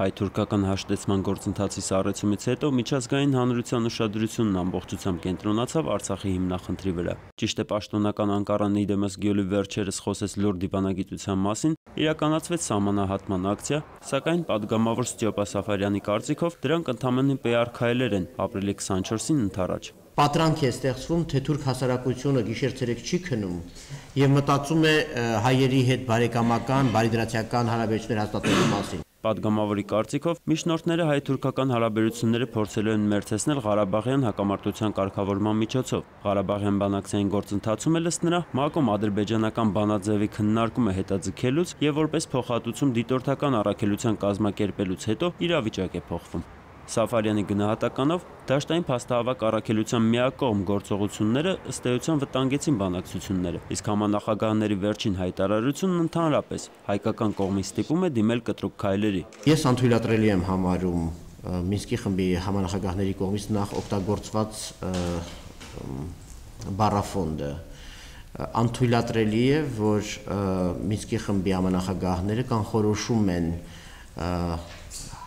Հայ-թուրքական հաշտեցման գործընթացի սառեցումից հետո միջազգային հանրության ուշադրությունն ամբողջությամբ կենտրոնացավ Արցախի հիմնախնդրի վրա։ Ճիշտ է, պաշտոնական Անկարան իդեմս Գյոլի վերջերս խոսեց լուրջ դիվանագիտության մասին, իրականացվեց սահմանահատման ակցիա, սակայն падգամավոր Ստյոպա Սաֆարյանի կարծիքով դրանք ընդամենը PR քայլեր են ապրիլի 24-ին ընդառաջ։ Պատրանք է ստեղծվում, թե թուրք հասարակությունը գիշեր-ցերեկ չի քնում եւ մտածում է հայերի հետ բարեկամական, բարիդրացիական հարաբերություններ հաստատելու մասին։ Պատգամավորի կարծիքով միջնորդները հայ-թուրքական հարաբերությունները փորձելու են մերձեցնել Ղարաբաղյան հակամարտության կարգավորման միջոցով։ Ղարաբաղյան բանակցային գործընթացում էլ ըստ նրա ՄԱԿ-ում ադրբեջանական բանաձևի քննարկումը հետաձգելուց եւ որպես փոխհատուցում դիտորդական առաքելության կազմակերպելուց հետո իրավիճակ է փոխվում։ Սաֆարյանի գնահատականով դաշտային փաստահավաք առաքելության միակողմ գործողությունները ըստ էության վտանգեցին բանակցությունները, իսկ համանախագահների վերջին հայտարարությունն ընդհանրապես հայկական կողմից ստիպում է դիմել կտրուկ քայլերի։ Ես անթույլատրելի եմ համարում Մինսկի խմբի համանախագահների կողմից նախ օգտագործված բառաֆոնդը։ Անթույլատրելի է, որ Մինսկի խմբի համանախագահները կանխորոշում են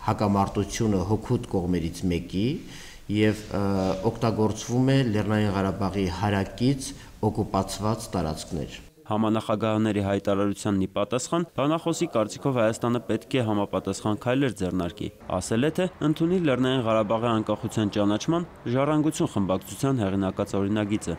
հակամարտությունը հօգուտ կողմերից մեկի եւ օգտագործվում է Լեռնային Ղարաբաղի հարակից օկուպացված տարածքներ։ Համանախագահների հայտարարությանն ի պատասխան բանախոսի կարծիքով Հայաստանը պետք է համապատասխան քայլեր ձեռնարկի։ Ասել է, թե ընդունի Լեռնային Ղարաբաղի անկախության ճանաչման ժառանգություն խմբակցության հեղինակած օրինագիծը։